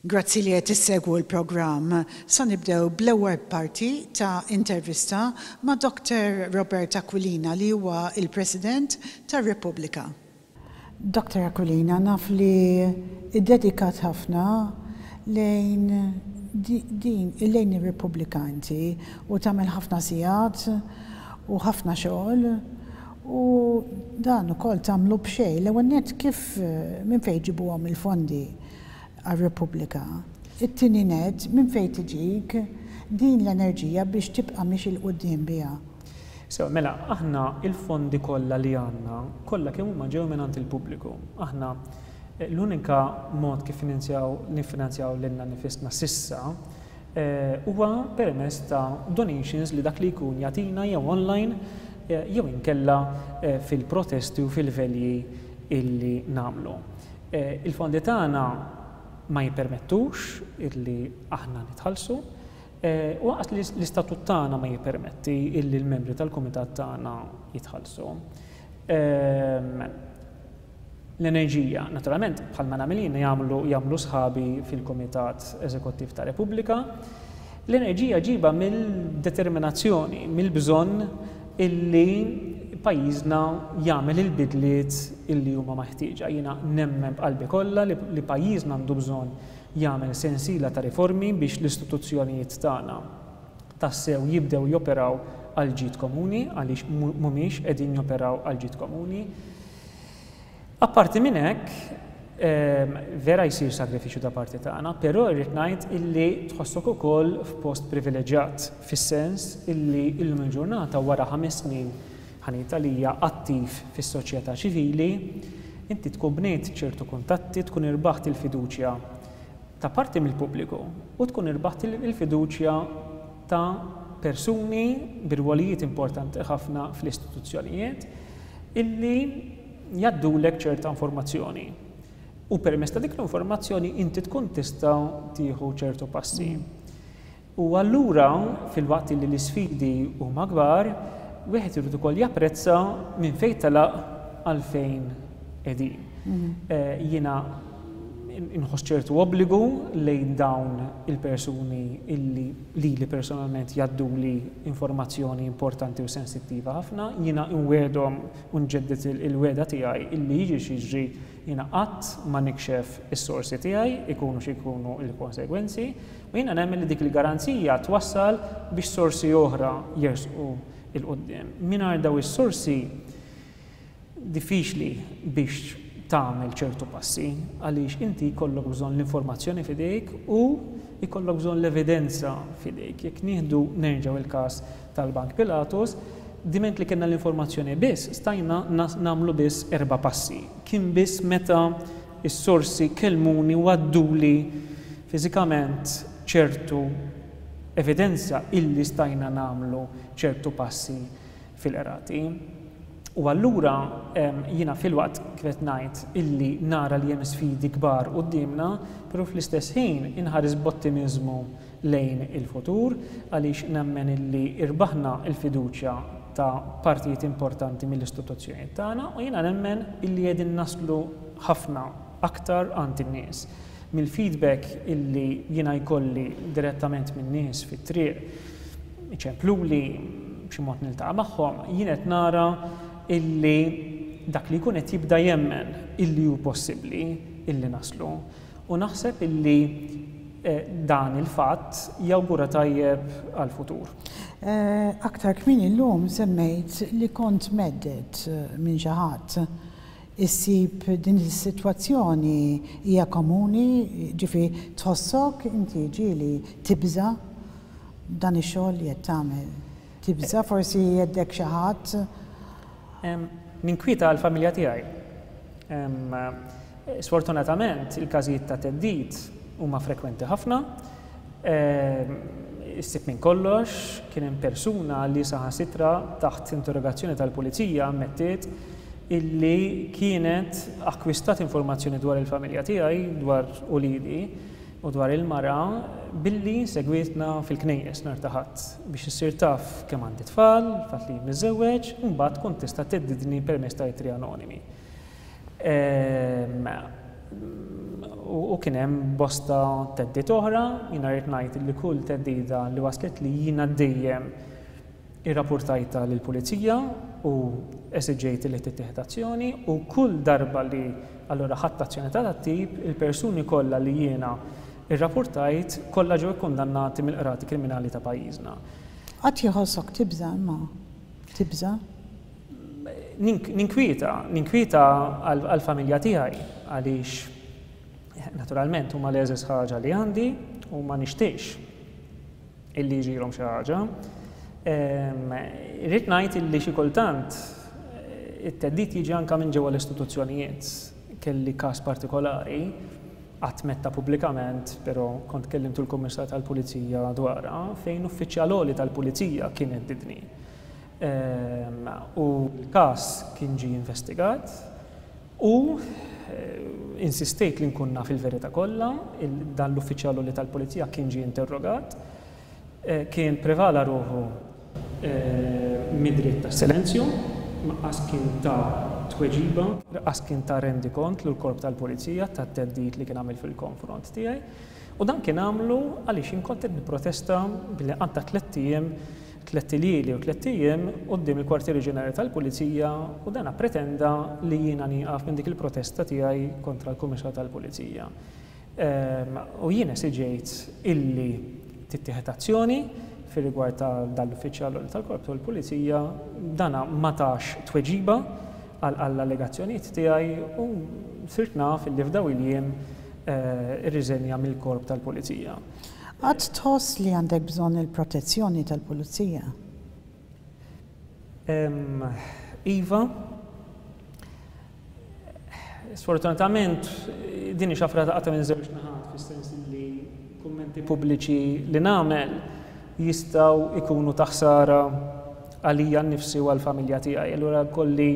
Grazzi li qed issegwu l-programm. Sa nibdew bl-ewwel parti ta' intervista ma' Dr. Robert Aquilina li huwa il-President tar-Repubblika. Dr. Aquilina, naf li iddedikat ħafna lejn din lejn ir-Repubblika inti u tagħmel ħafna sigħat u ħafna xogħol u dan ukoll tagħmlu b'xejn. L-ewwel nett kif minn fejn ġibuhom il-fondi għar-Repubblika? It-tieni nett minn fejn tiġik din l-enerġija biex tibqa' miexi 'l quddiem biha? Sewa, mela, aħna il-fondi kollha li għandna, kollha kemm huma ġew mingħand il-pubbliku. Aħna l-unika mod kif finanzjaw niffinanzjaw lilna nifisna s'issa huwa permezz ta' donations li dak li jkun jagħtina jew online jew inkella fil-protesti u fil-velji illi nagħmlu. Il-fondi tagħna ma jippermettux illi aħna nitħallsu, u lanqas l-istatut tagħna ma jippermetti illi l-membri tal-kumitat tagħna jitħallsu. L-enerġija, naturalment, bħalma nagħmel jien jagħmlu jagħmlu sħabi fil-Kumitat Eżekuttiv ta' Repubblika. L-enerġija ġiba mill-determinazzjoni, mill-bżonn illi pajjiżna jagħmel il-bidliet illi huma meħtieġa. Jiena nemmen b'qalbi kollha li pajjiżna għandu bżonn jagħmel sensiela ta' riformi biex l-istituzzjonijiet tagħna tassew jibdew joperaw għall-ġid komuni, għaliex mhumiex qegħdin joperaw għall-ġid komuni. Apparti minn hekk, vera jsir sagrifiċċju da parti tagħna, però irrid ngħid illi tħossok ukoll f'post privileġġjat, fis-sens illi illum il-ġurnata wara 5 snin ħa ngħid għalija attiv fis-soċjetà ċivili, inti tkun bnejt ċertu kuntatti, tkun irbaħt il-fiduċja ta' parti mill-pubbliku u tkun irbaħt il-fiduċja ta' persuni bi rwolijiet importanti ħafna fl-istituzzjonijiet illi jgħaddulek ċerta informazzjoni. U permezz ta' dik l-informazzjoni inti tkun tista' tieħu ċertu passi. U allura, filwaqt li l-isfidi huma kbar, wieħed irid ukoll japprezza minn fejn telaq għal fejn qegħdin. Jiena inħoss ċertu obbligu lejn dawn il-persuni illi lili personalment jgħadduli informazzjoni importanti u sensittiva ħafna, jiena nwiegħdhom u nġedded il-wegħda tiegħi illi jiġri x'jiġri jiena qatt ma nikxef is-sorsi tiegħi, ikunu xi jkunu l-konsegwenzi, u jiena nemmen li dik il-garanzija twassal biex sorsi oħra jersqu 'l quddiem. Mingħajr dawn is-sorsi diffiċli biex tagħmel ċertu passi għaliex inti jkollok bżonn l-informazzjoni f'idejk u jkollok bżonn l-evidenza f'idejk. Jekk nieħdu nerġgħu il-każ tal-Bank Pilatus, diment li kellna l-informazzjoni biss, stajna nagħmlu biss 4 passi. Kien biss meta s-sorsi kellmuni u għadduli fiżikament ċertu evidenza illi stajna nagħmlu ċertu passi fil-qrati. U allura jiena filwaqt kif qed ngħid illi nara li hemm sfidi kbar quddiemna, però fl-istess ħin inħares b'ottimiżmu lejn il-futur għaliex nemmen illi irbaħna l-fiduċja ta' partijiet importanti mill-istituzzjonijiet tagħna u jiena nemmen illi qegħdin naslu ħafna aktar għand in-nies. Mill-feedback illi jiena jkolli direttament min-nies fit-triq, iċempluli, b'xi mod niltaqa' magħhom, jien qed nara illi dak li jkun qed jibda jemmen illi hu possibbli illi naslu. U naħseb illi dan il-fatt jawgura tajjeb għall-futur. Aktar kmieni llum semmejt li kont mhedded minn xi ħadd. Issib din is-sitwazzjoni hija komuni, ġifieri tħossok inti ġieli tibża' dan ix-xogħol li qed tagħmel? Tibża' forsi jheddek xi ħadd? Ninkwieta għall-familja tiegħi. Sfortunatament, il-każijiet ta' theddid huma frekwenti ħafna. Issib minn kollox, kien hemm persuna li saħansitra taħt interrogazzjoni tal-pulizija ammettiet illi kienet akkwistat informazzjoni dwar il-familja tiegħi, dwar uliedi u dwar il-mara billi segwietna fil-knejjes nhar ta' Ħadd biex issir taf kemm għandi tfal, fatt li miżżewweġ, u mbagħad tkun tista' theddidni permezz ta' ittri anonimi. U kien hemm bosta theddid oħra, jiena rrid ngħid li kull theddida li waslitli jiena dejjem irrapurtajtha lill-pulizija u esiġejt li tittieħed azzjoni u kull darba li allura ħadt azzjoni ta' dat-tip, il-persuni kollha li jiena rrapurtajt kollha ġew ikkundannati mill-qrati kriminali ta' pajjiżna. Qatt jħossok tibża' imma? Tibża'? Ninkwieta, ninkwieta għall-familja tiegħi għaliex naturalment huma l-egħżeż ħaġa li għandi u ma nixtieqx illi jiġrilhom xi ħaġa. Irrid ngħid illi xi kultant it-theddid jiġi anke minn ġewwa l-istituzzjonijiet. Kelli każ partikolari, qatt m'għedtha pubblikament, però kont kellimtu l-Kummissarju tal-Pulizija dwarha, fejn uffiċjal għoli tal-Pulizija kien heddidni. U l-każ kien ġie investigat u insistejt li nkun naf il-verità kollha, dan l-uffiċjal għoli tal-Pulizija kien ġie interrogat, kien prevala ruħu mid-dritt tas-silenzju, lanqas kien ta tweġiba, lanqas kien ta rendikont lill-Korp tal-Pulizija tat-theddid li kien għamel fil-konfront tiegħi. U dan kien għamlu għaliex jien kont qed nipprotesta billi qgħadta tlett ijiem tlett iljieli u tlett ijiem quddiem il-Kwartieri Ġenerali tal-Pulizija u dana ppretenda li jiena nieqaf minn dik il-protesta tiegħi kontra l-Kummissarju tal-Pulizija. U jien esiġejt illi tittieħed azzjoni fir-rigward ta' dan l-uffiċjal għoli tal-Korp tal-Pulizija, dana ma tax tweġiba għall-allegazzjonijiet tiegħi u sirt naf illi f'dawn il-jiem irriżenja mill-Korp tal-Pulizija. Qatt tħoss li għandek bżonn il-protezzjoni tal-pulizija? Iva. Sfortunatament din hi xafra taqta' minn żewġ naħat fis-sens li kummenti pubbliċi li nagħmel jistgħu jkunu ta' ħsara għalija nnifsi u għall-familja tiegħi. Allura kolli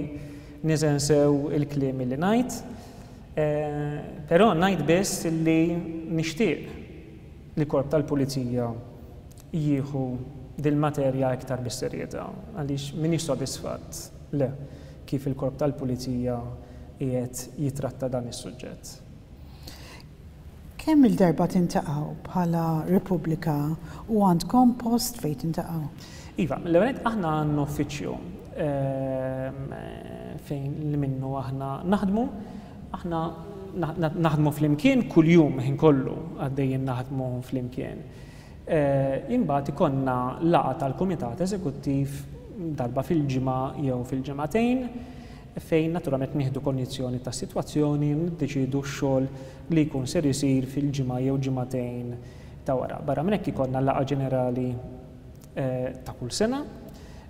niżen sew il-kliem li ngħid. Però ngħid biss li nixtieq li korp tal-pulizija jieħu dil-materja iktar bis-serjetà għaliex m'iniex sodisfatt, le, kif il-Korp tal-Pulizija qiegħed jitratta dan is-suġġett. Kemm-il darba tintaqgħu bħala Repubblika u għandkom post fejn tintaqgħu? Iva, l-ewwel nett aħna għandna uffiċċju fejn li minnu aħna naħdmu. Aħna naħdmu flimkien kuljum ħin kollu għaddejjin naħdmu flimkien. Imbagħad ikollna laqgħa tal-Kumitat Eżekuttiv darba fil-ġimgħa jew fil-ġimgħatejn fejn naturalment nieħdu konjizzjoni tas-sitwazzjoni u niddeċiedu x-xogħol li jkun ser isir fil-ġimgħa jew ġimgħatejn ta' wara. Barra minn hekk ikollna laqgħa ġenerali ta' kull sena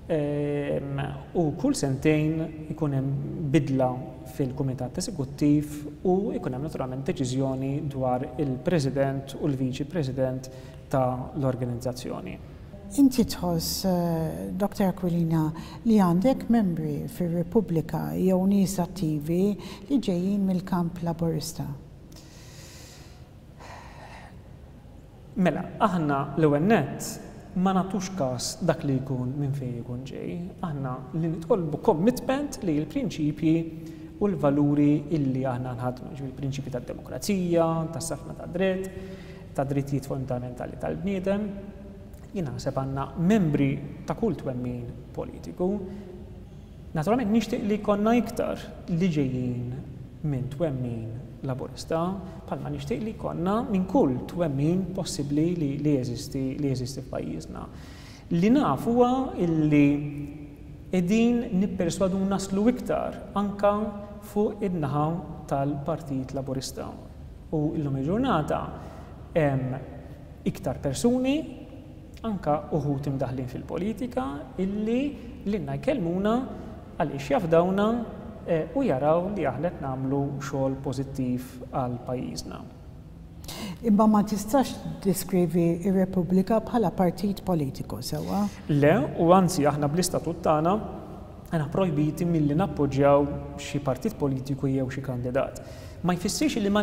u kull sentejn ikun hemm bidla fil-Kumitat Eżekuttiv u jkun hemm naturalment deċiżjoni dwar il-President u l-Viċi President ta' l-organizzazzjoni. Inti tħoss, Dr Aquilina, li għandek membri fir-Repubblika jew nies attivi li ġejjin mill-kamp Laburista? Mela, aħna l-ewwel nett ma nagħtux kas dak li jkun minn fejn ikun ġej. Aħna li nitolbu commitment li l-prinċipji u l-valuri illi aħna nħaddnu, jiġifieri l-prinċipji tad-demokrazija, tas-saltna tad-dritt, tad-drittijiet fundamentali tal-bniedem. Jien naħseb għandna membri ta' kull twemmin politiku. Naturalment nixtieq li jkollna iktar li ġejjin minn twemmin Laburista, bħalma nixtieq li jkollna minn kull twemmin possibbli li jeżisti li jeżisti f'pajjiżna. Li naf huwa illi qegħdin nipperswadu naslu iktar anke fuq in-naħa tal-Partit Laburista. U llum il-ġurnata hemm iktar persuni anke uħud imdaħħlin fil-politika illi lilna jkellmuna għaliex jafdawna u jaraw li aħna qed nagħmlu xogħol pożittiv għal pajjiżna. Imma ma tistax tiddeskrivi r-Repubblika bħala partit politiku, sewwa? Le, u anzi aħna bl-istatut tagħna aħna projbiti milli nappoġġjaw xi partit politiku jew xi kandidat. Ma jfissirx illi ma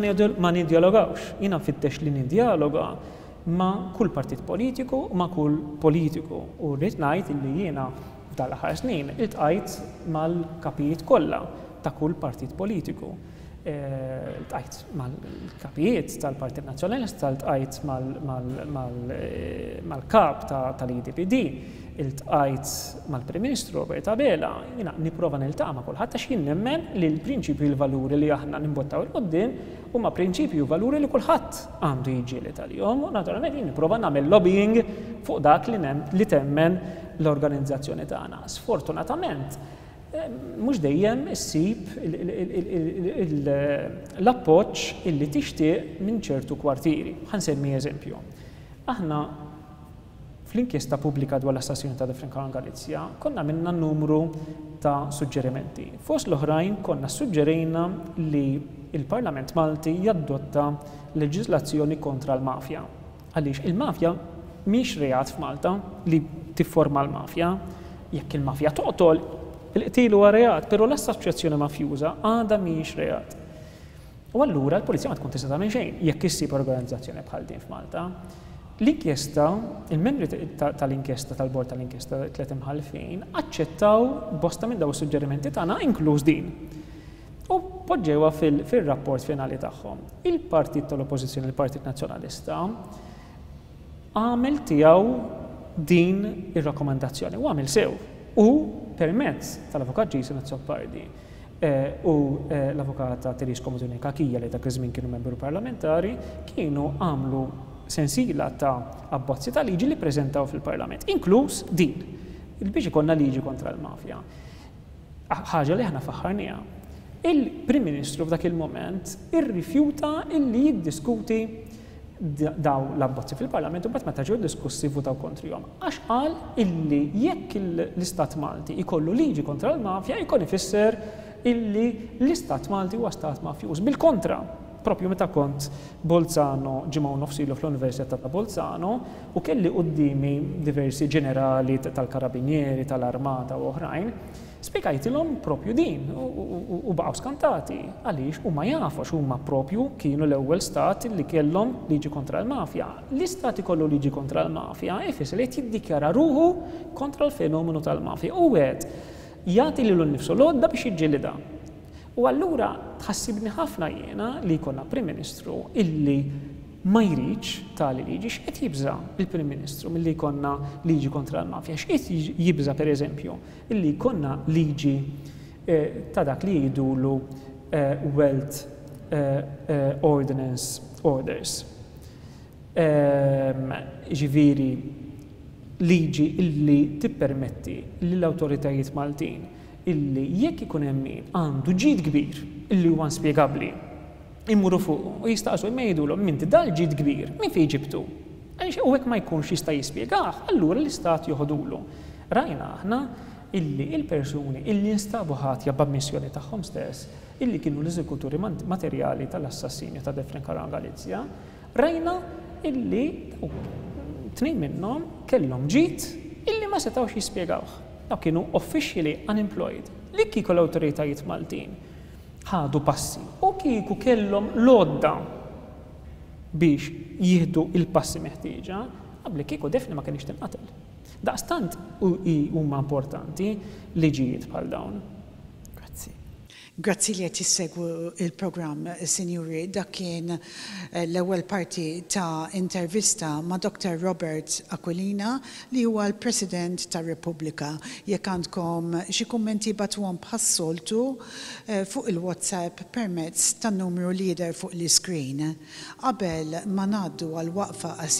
nidjalogawx. Jiena nfittex li nidjaloga ma' kull partit politiku u ma' kull politiku u rrid ngħid illi jiena f'dan l-aħħar snin iltqajt mal-kapijiet kollha ta' kull partit politiku. Ltqajt mal-kapijiet tal-Partit Nazzjonalista, ltqajt mal-kap tal-EDPD, iltqajt mal-Prim Ministru Robert Abela, jiena nipprova niltaqa' ma' kulħadd għax jien nemmen li l-prinċipji u l-valuri li aħna nimbottaw 'il quddiem huma prinċipji u valuri li kulħadd għandu jiġġieled għalihom u naturalment jien nipprova nagħmel lobbying fuq dak li temmen l-organizzazzjoni tagħna. Sfortunatament, mhux dejjem issib l-appoġġ illi tixtieq minn ċertu kwartieri. Ħa nsemmi eżempju. Aħna fl-inkjesta pubblika dwar l-assassinju ta' Daphne Caruana Galizia konna għamilna numru ta' suġġerimenti. Fost l-oħrajn konna ssuġġerejna li l-Parlament Malti jadotta leġiżlazzjoni kontra l-mafja. Għaliex il-mafja mhix reat f'Malta li tifforma l-mafja. Jekk il-mafja toqtol, il-qtil huwa reat, però l-assoċjazzjoni mafjuża għadha mhijiex reat. U allura l-pulizija ma tkun tista' tagħmel xejn jekk issib organizzazzjoni bħal din f'Malta. L-inkjesta, il-membri tal-inkjesta tal-bord tal-inkjesta tliet imħallfin aċċettaw bosta minn dawn is-suġġerimenti tagħna inkluż din. U poġġewha fir-rapport finali tagħhom. Il-partit tal-Oppożizzjoni, il-Partit Nazzjonalista, għamel tiegħu din ir-rakkomandazzjoni u għamel sew. U permezz tal-Avukat Jason Azzopardi u l-Avukata Therese Comodini Cachia li dak iż-żmien kienu membru parlamentari, kienu għamlu sensiela ta' abbozzi ta' liġi li ppreżentaw fil-Parlament, inkluż din, biex ikollna liġi kontra l-mafja. Ħaġa li aħna faħħarniha. Il-Prim Ministru f'dak il-mument irrifjuta illi jiddiskuti daw l-abbozzi fil-Parlament u mbagħad meta ġew diskussi vvutaw kontrihom. Għax qal illi jekk l-Istat Malti jkollu liġi kontra l-mafja jkun ifisser illi l-Istat Malti huwa stat mafjuż. Bil-kontra, propju meta kont Bolzano ġimgħa u nofs ilu fl-Università ta' Bolzano u kelli quddiemi diversi ġenerali tal-Karabinieri, tal-Armata u oħrajn, spjegajtilhom propju din u baqgħu skantati għaliex huma jafu għax huma propju kienu l-ewwel stat li kellhom liġi kontra l-mafja. L-istat ikollu liġi kontra l-mafja ifisser li qed jiddikjara ruħu kontra l-fenomenu tal-mafja u qed jagħti lilu nnifsu l-għodda biex jiġġielidha. U allura tħassibni ħafna jiena li jkollna Prim Ministru illi ma jridx tali liġi. X'qed jibża' l-Prim Ministru milli jkollna liġi kontra l-mafja? X'qed jibża' pereżempju illi jkollna liġi ta' dak li jgħidulu Wealth Ordinance Orders? Jiġifieri liġi illi tippermetti lill-awtoritajiet Maltin illi jekk ikun hemm min għandu ġid kbir illi huwa inspjegabbli, imorru fuqu u jistaqsu imma jgħidulhom m'inti dal-ġid kbir minn fejn ġibtu? Għaliex u hekk ma jkunx jista' jispjegah, allura l-Istat joħodulu. Rajna aħna illi il-persuni illi nstabu ħatja b'ammissjoni tagħhom stess illi kienu l-eżekuturi materjali tal-assassinju ta' Daphne Caruana Galizia, Rajna illi dawk tnejn minnhom kellhom ġid illi ma setgħux jispjegawh. Dawk kienu officially unemployed. Li kieku l-awtoritajiet Maltin ħadu passi u kieku kellhom l-għodda biex jieħdu l-passi meħtieġa, qabli kieku Daphne ma kinitx tinqatel. Daqstant huma importanti liġijiet bħal dawn. Grazzi. Grazzi li qed issegwu l-programm, sinjuri. Dak kien l-ewwel parti ta' intervista ma' Doctor Robert Aquilina li huwa l-President ta' Repubblika. Jekk għandkom xi kummenti ibagħtuhom bħas-soltu fuq il-WhatsApp permezz tan-numru li jidher fuq l-iscreen. Qabel ma ngħaddu għal waqfa qasira,